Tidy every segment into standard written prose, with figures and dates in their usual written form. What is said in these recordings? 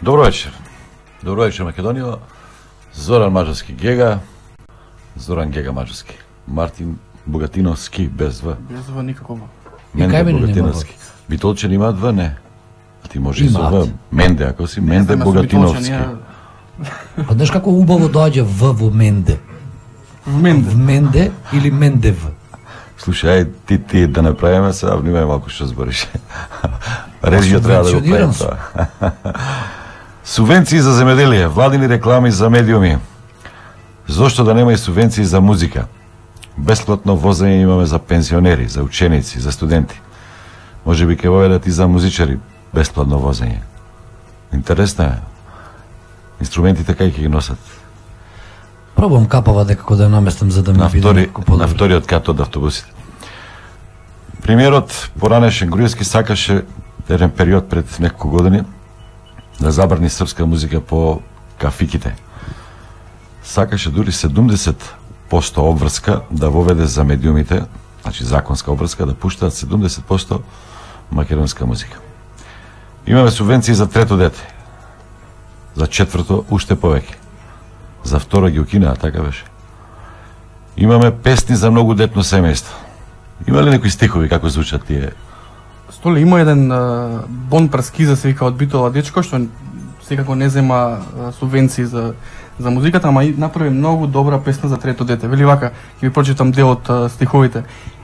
Добро вечер. Добро вечер, Македонија. Зоран Маџарски Гега. Зоран Гега Маџарски. Мартин Богатиновски без В. Без В никако. Менде Богатиновски. Битолчани имаат В, не? А ти може и со В. Менде, ако си Менде Богатиновски. А знаеш како убаво доаѓа В во Менде? В Менде или Мендев? Слушај, ти да направиме сега, внимај малку што збориш. Режија треба да го правим тоа. Субвенции за земеделие, владини реклами за медиуми. Зошто да нема и субвенции за музика? Бесплатно возење имаме за пензионери, за ученици, за студенти. Може би ќе воведат и за музичари бесплатно возење. Интересно е. Инструментите кај ќе ги носат? Пробам капава дека да ја наместам за да ми биде некој подобро. На вториот кат од автобусите. Премиерот поранешен Груевски сакаше еден период пред неколку години да забрани српска музика по кафиките. Сакаше дури 70% обврска да воведе за медиумите, значи законска обврска, да пуштаат 70% македонска музика. Имаме субвенции за трето дете. За четврто уште повеќе. За второ ги укинаа, така беше. Имаме песни за многу детно семејство. Има ли некои стихови како звучат тие? Столе има еден Бон Праскиза се вика од Битола дечко што секако не зема субвенции за музиката, ама и направи многу добра песна за трето дете. Вели вака, ќе ви прочитам дел од стиховите.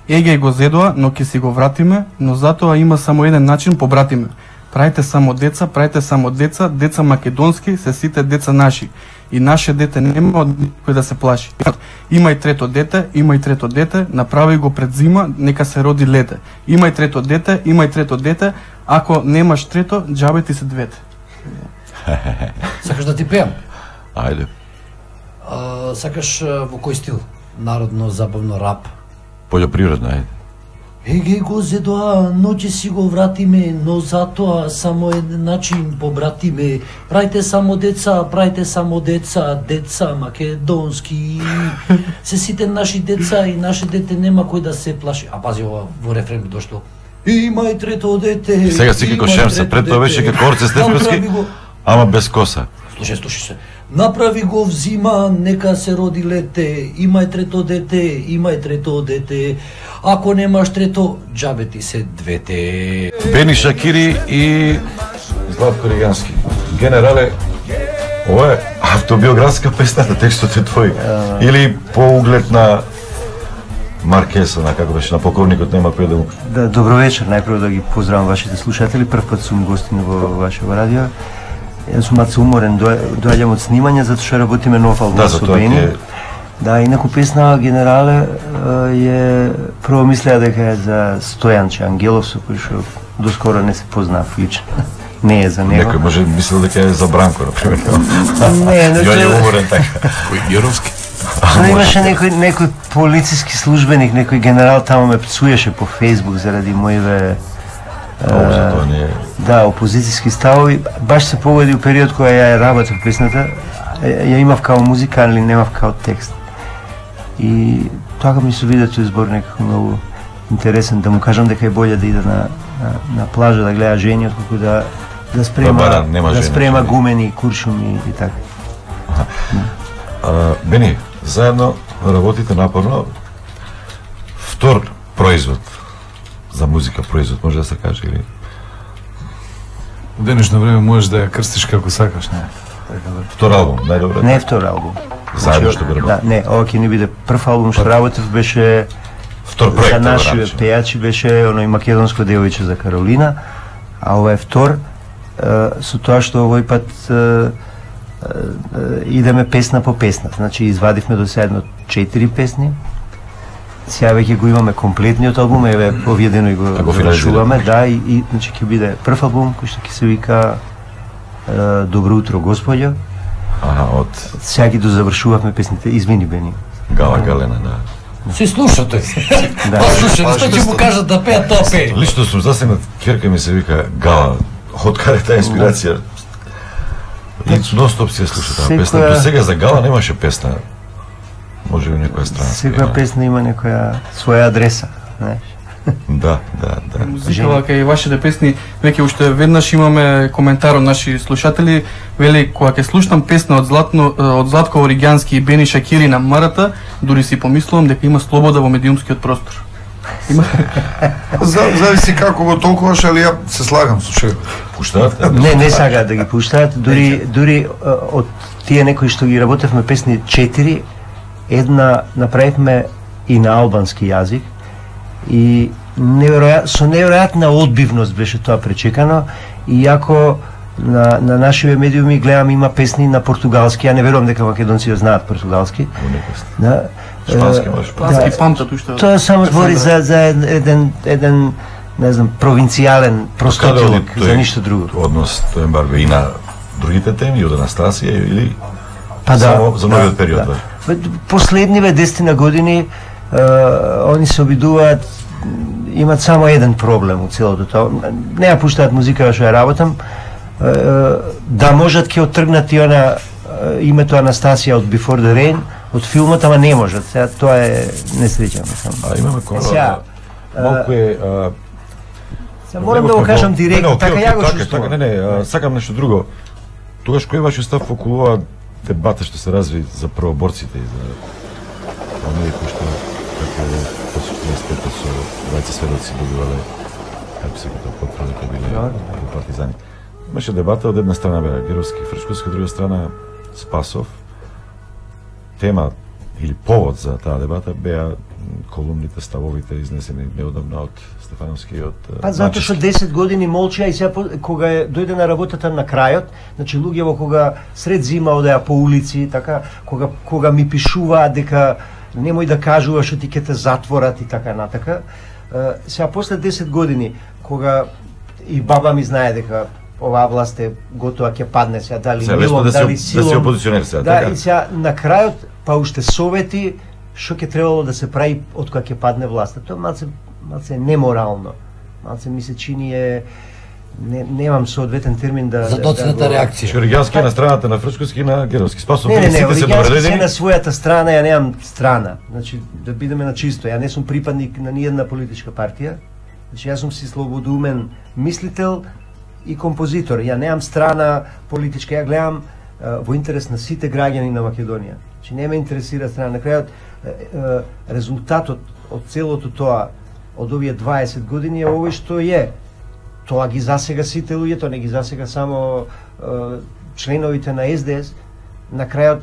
Еге го зедоа, но ќе си го вратиме, но затоа има само еден начин побратиме. Правите само деца, деца македонски, се сите деца наши. И наше дете нема од никој да се плаши. Има и трето дете, направи го пред зима, нека се роди лете. Има и трето дете, ако немаш трето, џабе ти се двете. Сакаш да ти пеам? Ајде. Сакаш во кој стил? Народно, забавно, рап? Полјопривредно, ајде. Еге го зедоа, но ќе си го вратиме, но затоа само еден начин побратиме. Правите само деца, деца македонски. Се сите наши деца и наше дете нема кој да се плаши. А пази ова во рефрен дошло. Има и трето дете. Сега си како Шемса, пред тоа беше како Орце Стефански, ама без коса. Слушај се. Направи го взима, нека се роди лете. Имај трето дете. Ако немаш трето, џабе ти се двете. Бени Шакири и Златко Ригански. Генерале, ова е автобиографска песната, текстот е твој. Или по углед на Маркеса, на како беше, на покойникот нема кој да му... Да, добро вечер, најпрво да ги поздравам вашите слушатели. Прв пат сум гостин во вашето радио. Јас сум малку уморен, доаѓам од снимање затоа што работиме нов албум со Бени. Да, инаку песна Генерале е прво мислеа дека е за Стојанче Ангелов, со кој што доскоро не се познав лично. Не е за него. Некој може мислел дека е за Бранко, например. Не, Јој е уморен така. Кој Јеровски? Имаше некој полициски службеник, некој генерал таму ме пцуеше по Фејсбук заради моиве да, опозицијски ставови. Баш се погоди у период кога ја работев песната, ја имав као музика, али немав као текст. И така ми се види тој збор некако многу интересен, да му кажам дека е болje да иде на плажа да гледа жени, отколку да спрема гумени, куршуми и така. Бени, заедно работите напорно. Втор производ за музика производ, може да се каже, или? У денешно време можеш да ја крстиш како сакаш, не? Втор албум, најдобре? Не втор албум. Заедно што го работи? Да, не, ова ќе ни биде прв албум што работев, беше втор проект, за наши пејачи, беше оној македонско девојче за Каролина, а ова е втор, со тоа што овој пат идеме песна по песна. Значи извадивме до сега 4 песни. Сега веќе го имаме комплетниот албум, еве овие денови го завршуваме, да, и значи ќе биде прв албум кој што ќе се вика Добро утро господјо. Од сега ги дозавршувавме песните, извини Бени. Гала Галена, да. Се слушате. Да. Слушате, што ќе му кажат да пеат, тоа пее. Лично сум засегнат, керка ми се вика Гала. Од каде таа инспирација? И нон-стоп си ја слуша таа песна. До сега за Гала немаше песна. Може би некоја страна. Секоја песна има некоја своја адреса, знаеш. Да. Музикава кај вашите песни, веќе уште веднаш имаме коментар од наши слушатели, вели кога ќе слушнам песна од Златко Оригјански и Бени Шакири на Марата, дури си помислувам дека има слобода во медиумскиот простор. Има Зависи како го толкуваш, али ја се слагам со шеф. Пуштаат? Не сакаат да ги пуштаат, дури од тие некои што ги работевме песни 4, една направивме и на албански јазик и со неверојатна одбивност беше тоа пречекано, иако на нашиве медиуми гледам има песни на португалски, ја не верувам дека македонците знаат португалски. Да. Шпански може. Шпански памтат уште. Тоа само збори за еден не знам, провинцијален простотилок, за ништо друго. Однос тоа ембарго и на другите теми, од Анастасија или па само за новиот период? Последниве 10 години они се обидуваат, имат само еден проблем од целото тоа. Не ја пуштаат музика што ја работам, да можат ќе оттргнат и она името Анастасија од Before the Rain, од филмот, ама не можат. Сега тоа е несреќа, мислам. Имаме кора. Малку е морам да го кажам директно, така ја го чувствувам. Не, сакам нешто друго. Тогаш кој е вашиот став околу оваа дебата што се разви за првоборците и за оние кои што како по 45 со двајца сведоци добивале, како се тоа потврди дека биле партизани. Имаше дебата од една страна беа Геровски и Фрчковски, од друга страна Спасов. Тема или повод за таа дебата беа колумните, ставовите изнесени неодамна од Стефановски и од Па затоа што 10 години молчеа и сега кога дојде на работата на крајот, значи луѓето кога сред зима одеа по улици, така, кога ми пишуваат дека немој да кажуваш што ти ќе те затворат и така натака. Сега после 10 години кога и баба ми знае дека оваа власт е готова ќе падне сега, дали милом, дали силом. Да се опозиционер сега, да, така. И сега на крајот па уште совети што ќе требало да се прави од кога ќе падне власта. Тоа малце неморално. Малце ми се чини немам соодветен термин да за доцната реакција. Оригјански на страната на Фрчковски и на Геровски. Спасов не, Оригјански се на својата страна, ја немам страна. Значи да бидеме на чисто, ја не сум припадник на ниедна политичка партија. Значи јас сум си слободумен мислител и композитор. Ја немам страна политичка, ја гледам во интерес на сите граѓани на Македонија. Значи не ме интересира страна. На крајот резултатот од целото тоа, од овие 20 години е овој што е. Тоа ги засега сите луѓе, тоа не ги засега само членовите на СДС. На крајот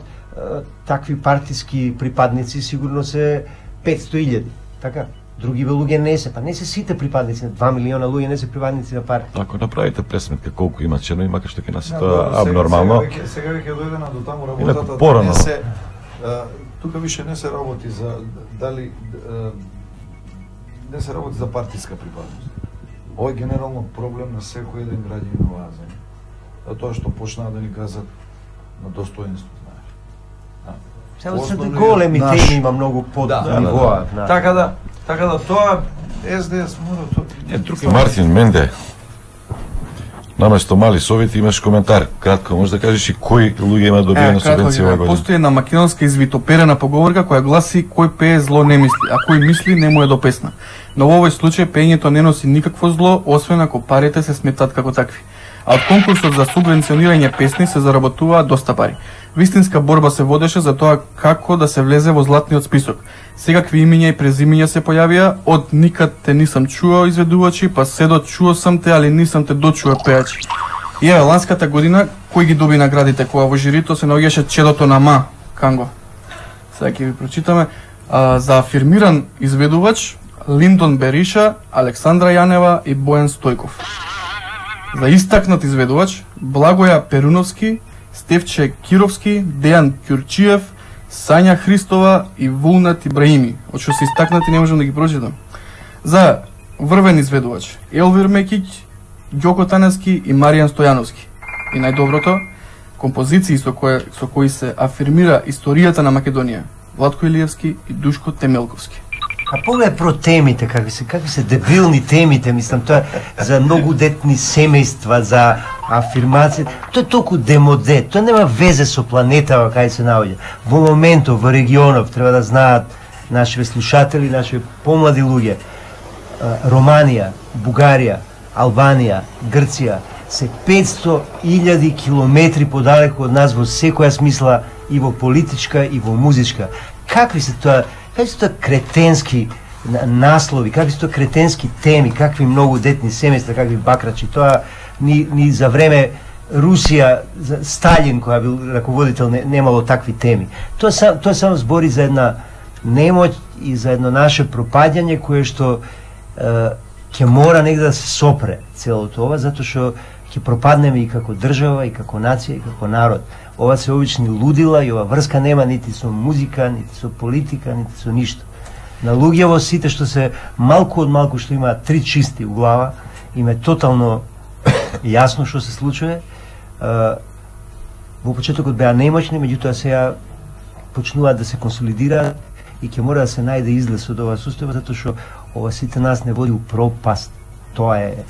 такви партиски припадници сигурно се 500.000. Така? Други луѓе не се, па не се сите припадници, 2 милиона луѓе не се припадници на партија. Ако направите пресметка колку има членови, макар што ќе нас тоа абнормално. Сега веќе дојдена до таму работата. Не се тука више не се работи за дали не се работи за партиска припадност. Ова е генерално проблем на секој еден граѓанин на оваа земја. Тоа што почнаа да ни кажат на достоинство, знаеш. Само се големи теми има многу под нивоа. Така да тоа СДС мора тоа. Мартин Менде. Наместо мали совети имаш коментар. Кратко може да кажеш и кои луѓе има добиена субвенција оваа година. Постои една македонска извитоперена поговорка која гласи кој пее зло не мисли, а кој мисли не му е до песна. Но во овој случај пеењето не носи никакво зло, освен ако парите се сметат како такви. А од конкурсот за субвенционирање песни се заработуваат доста пари. Вистинска борба се водеше за тоа како да се влезе во златниот список. Секакви имиња и презимиња се појавија, од никад те нисам чуо изведувачи, па се до чуо сам те, али нисам те дочуо пеачи. И еве ланската година кој ги доби наградите кога во жирито се наоѓаше чедото на Ма Канго. Сега ќе ви прочитаме за афирмиран изведувач Линдон Бериша, Александра Јанева и Бојан Стојков. За истакнат изведувач Благоја Перуновски, Стефче Кировски, Дејан Ќурчиев, Сања Христова и Вулнат Ибраими. Од што се истакнати не можам да ги прочитам. За врвен изведувач Елвир Мекиќ, Ѓоко Таневски и Маријан Стојановски. И најдоброто, композиции со кои се афирмира историјата на Македонија, Владко Илиевски и Душко Темелковски. А поглед про темите, какви се дебилни темите, мислам, тоа за многу детни семејства, за афирмација, тоа е толку демоде, тоа нема везе со планетава кај се наоѓа. Во моментов, во регионов, треба да знаат нашите слушатели, нашите помлади луѓе. Романија, Бугарија, Албанија, Грција се 500.000 километри подалеку од нас во секоја смисла, и во политичка и во музичка. Какви се тоа кретенски наслови, какви се тоа кретенски теми, какви многу детни семејства, какви бакрачи. Тоа ни за време Русија, Сталин која бил раководител немало такви теми. Тоа само збори за една немоќ и за едно наше пропаѓање кое што ќе мора негде да се сопре целото ова, затоа што ќе пропаднеме и како држава, и како нација, и како народ. Ова се обични лудила и ова врска нема нити со музика, нити со политика, нити со ништо. На луѓево сите што се малку од малку што имаат три чисти у глава, им е тотално јасно што се случува. Во почетокот беа немоćни, меѓутоа сега почнуваат да се консолидираат и ќе мора да се најде излез од ова состојба, затоа што ова сите нас не води у пропаст. Тоа е.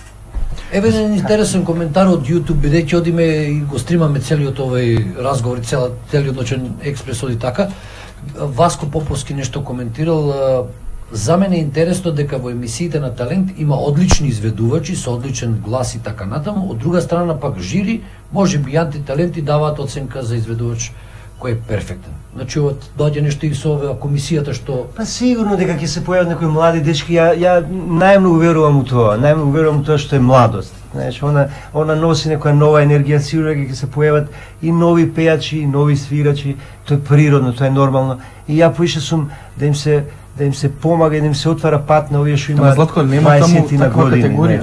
Еве еден интересен коментар од YouTube, бидејќи одиме и го стримаме целиот овој разговор, целиот ноќен експрес оди така. Васко Поповски нешто коментирал. За мене е интересно дека во емисиите на Талент има одлични изведувачи со одличен глас и така натаму. Од друга страна пак жири, можеби антиталенти даваат оценка за изведувач кој е перфектен. Значи доаѓа нешто и со оваа комисијата што Па сигурно дека ќе се појават некои млади дечки. Ја најмногу верувам у тоа. Најмногу верувам у тоа што е младост. Знаеш, она носи некоја нова енергија, сигурно ќе се појават и нови пејачи, и нови свирачи. Тоа е природно, тоа е нормално. И ја поише сум да им се помага и да им се отвара пат на овие што имаат 20 на години.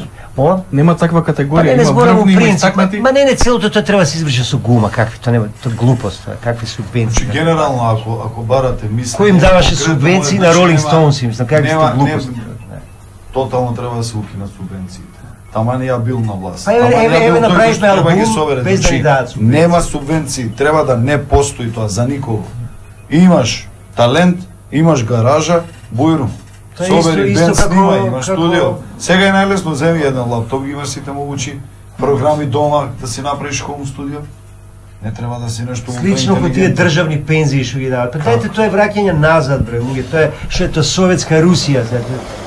Нема таква категорија, има врвни, има истакнати. Ма не, целото тоа треба да се изврши со гума, какви тоа нема, тоа глупост, какви субвенции. Значи генерално ако барате мисли, кој им даваше субвенции на Rolling Stones, мислам, какви тоа глупост. Тотално треба да се укинат субвенциите. Таман ја бил на власт. Па еве направивме албум без да ни дадат субвенции. Нема субвенции, треба да не постои тоа за никого. Имаш талент, имаш гаража, бујрум. Собери бенд, снимај, имаш студио. Сега е најлесно, земи еден лаптоп, ги имаш сите могучи програми дома, да си направиш хоум студио. Не треба да си нешто слично како тие државни пензии што ги дават. Па дајте, тоа е враќање назад, бре, луѓе, тоа е што е тоа советска Русија,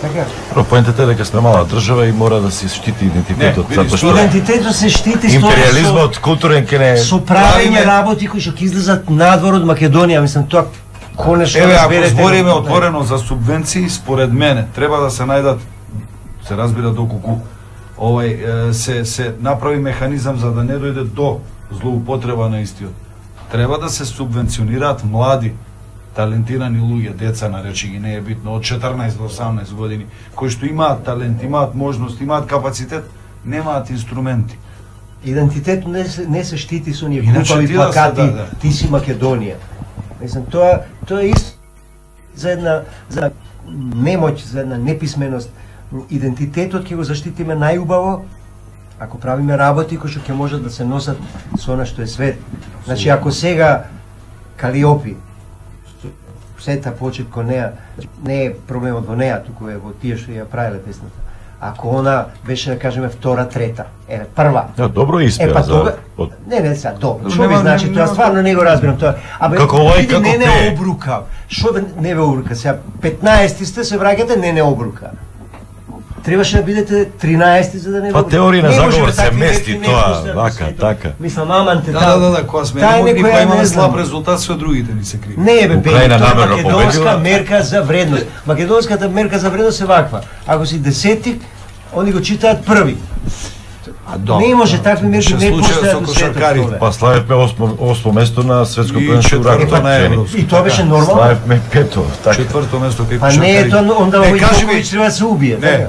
така. Поентата е дека сме мала држава и мора да се штити идентитетот, затоа што идентитетот се штити империализмот културен ке не со правење работи кои што ќе излезат надвор од Македонија, мислам тоа. Еве, ако збориме отворено за субвенции, според мене треба да се најдат, се разбира доколку се направи механизам за да не дојде до злоупотреба на истиот. Треба да се субвенционираат млади, талентирани луѓе, деца наречи ги, не е битно, од 14 до 18 години, кои што имаат талент, имаат можност, имаат капацитет, немаат инструменти. Идентитет не се штити со оние глупави плакати, ти си Македонија. Мислам, тоа е исто за една немоќ, за една неписменост. Идентитетот ќе го заштитиме најубаво ако правиме работи кои што ќе можат да се носат со она што е свет. Значи, ако сега Калиопи, сета почет кон неа, не е проблемот во неа, туку е во тие што ја правеле песната. Ако она беше, да кажеме, втора, трета, прва. Добро испеа за... Не, сега, добро. Што ви значи тоа? Стварно не го разбирам тоа. Како овај, како не обрука. Што не ве обрука? Сега, 15 сте се враќате, не обрука. Требаше да бидете 13 за да не Па теорија на заговор се мести тоа, вака, така. Мислам, аманте, да, кога сме не могли, па имаме слаб резултат, све другите ни се криви. Не, бе, тоа е македонска мерка за вредност. Македонската мерка за вредност е ваква. Ако си десетик, они го читаат први. Не може такви мерки не постојат во светот. Па славевме 8 место на светско првенство рак. И тоа беше нормално. Славевме 5-то, така. 4-то место кај кошаркари. Па не е тоа, онда овој Јоковиќ треба да се убие. Не.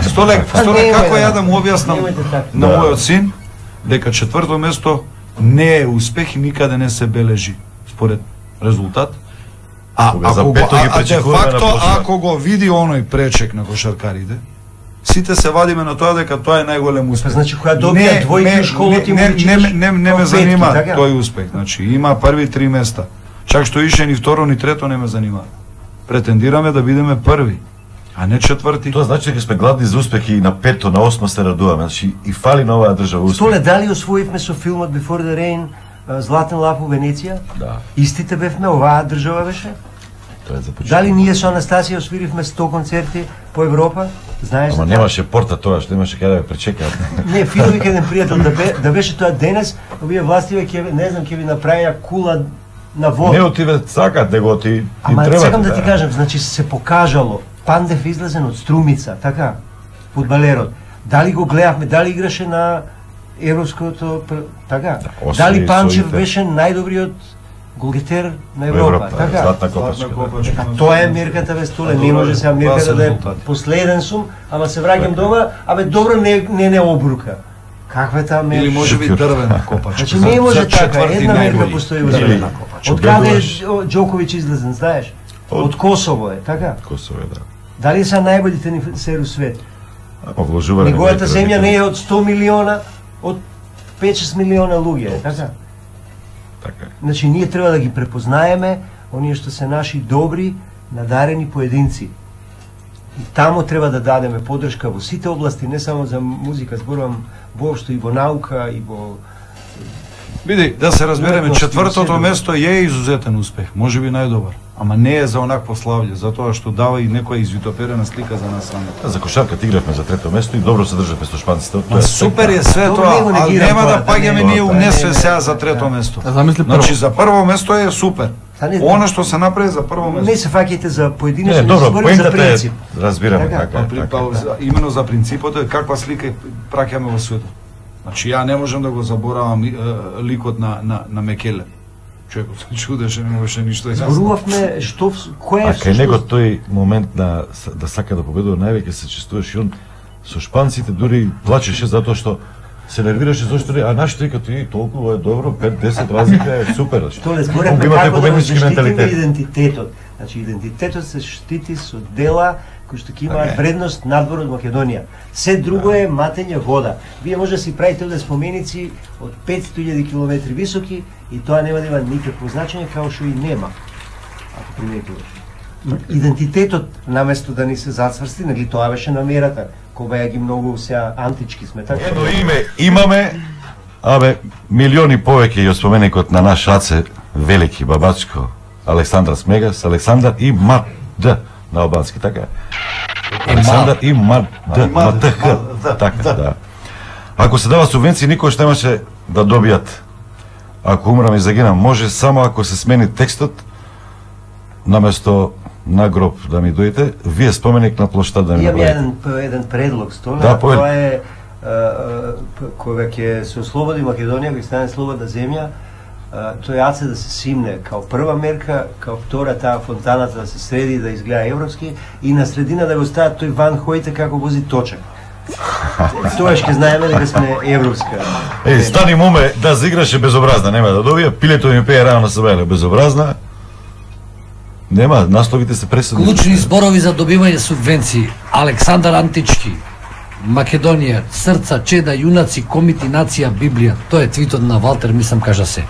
Столек, како ја да му објаснам на мојот син дека 4-то место не е успех и никаде не се бележи според резултат. Ако го види оној пречек на кошаркарите, сите се вадиме на тоа дека тоа е најголем успех. Значи, која добија двојки у школот и не ме занима тој успех. Значи, има први 3 места. Чак што ише ни второ, ни трето не ме занима. Претендираме да бидеме први, а не четврти. Тоа значи дека сме гладни за успех и на 5-то, на 8 се радуваме. Значи, и фали на оваа држава успех. Столе, дали освоивме со филмот Before the Rain Златен лав у Венеција? Да. Истите бевме, оваа држава беше? Дали ние со Анастасија освиривме 100 концерти по Европа? Знаеш? Ама немаше порта тоа, што немаше каде да пречекаат. Не, фино вика еден пријател да беше тоа денес, овие властиве ќе не знам ќе ви направија кула на вода. Не отиве сакат, него ти ама треба. Сакам да ти кажам, значи се покажало Пандев излезен од Струмица, така, фудбалерот. Дали го гледавме, дали играше на европското, така. Дали Панчев беше најдобриот голгетер на Европа, така. Златна копачка. Тоа е мерката бе Столе, не може сега мерката да е последен сум, ама се враќам дома, абе добро не обрука. Каква е таа мерка? Или може би дрвена копачка. Значи не може така, една мерка постои дрвена копачка. Од каде е Џоковиќ излезен, знаеш? Од Косово е, така? Косово е, да. Дали са најболите ни сер у свет? Вложување. Неговата земја не е од 100 милиона, од 5-6 милиона луѓе, така? Така. Значи ние треба да ги препознаеме оние што се наши добри, надарени поединци. И таму треба да дадеме поддршка во сите области, не само за музика, зборувам воопшто и во наука и во Види, да се разбереме, четвртото место е изузетен успех, можеби најдобар, ама не е за онакво славје, затоа што дава и некоја извитоперена слика за нас самите. За кошарка игравме за трето место и добро се државме со шпанците. Тоа супер е све тоа, а нема да паѓаме ние унесве сега за трето место. Значи за прво место е супер. Она што се направи за прво место. Не се фаќајте за поединечно, не зборим за принцип. Разбираме така. Имено за принципот е каква слика праќаме во светот. Значи ја не можам да го заборавам ликот на Мекеле. Човекот се чудеше, не можеше ништо да зборувавме што кој е. А кај него тој момент да сака да победува највеќе се чувствуваше он со шпанците, дури плачеше затоа што се нервираше зашто нашите като и толкова е добро, 5-10 разлика е супер. Што не зборевме како да штитиме идентитетот. Значи идентитетот се штити со дела кои што ќе имаат вредност надвор од Македонија. Се друго е матење вода. Вие може да си правите овде споменици од 500.000 километри високи и тоа нема да има никакво значење, како што и нема. Ако приметуваш. Идентитетот наместо да ни се зацврсти, нели тоа беше намерата. Кога ги многу сега антички сме така. Едно име имаме, абе милиони повеќе и од споменикот на наш аце велики Бабачко, Александар Смегас, Александар и Мад на албански, така е. Александар и Мад така, да. Ако се дава субвенции, никош немаше да добијат. Ако умрам и загинам, може само ако се смени текстот, наместо на гроб да ми дојдете, вие споменик на плоштад да ми направите. Имам еден предлог, Столе, да, тоа е кога ќе се ослободи Македонија, ќе стане слободна земја, тој аце да се симне као прва мерка, као втора таа фонтаната да се среди да изгледа европски и на средина да го стават тој Ван Хојте како вози точак. Тоа ќе знаеме дека сме европска. Стани моме да заиграше безобразна, нема да добија, пилето ми пее рано на себе безобразна. Нема, насловите се пресудни. Клучни зборови за добивање субвенции. Александар Антички, Македонија, срца, чеда, јунаци, комити, нација, Библија. Тоа е твитот на Валтер, мислам кажа се.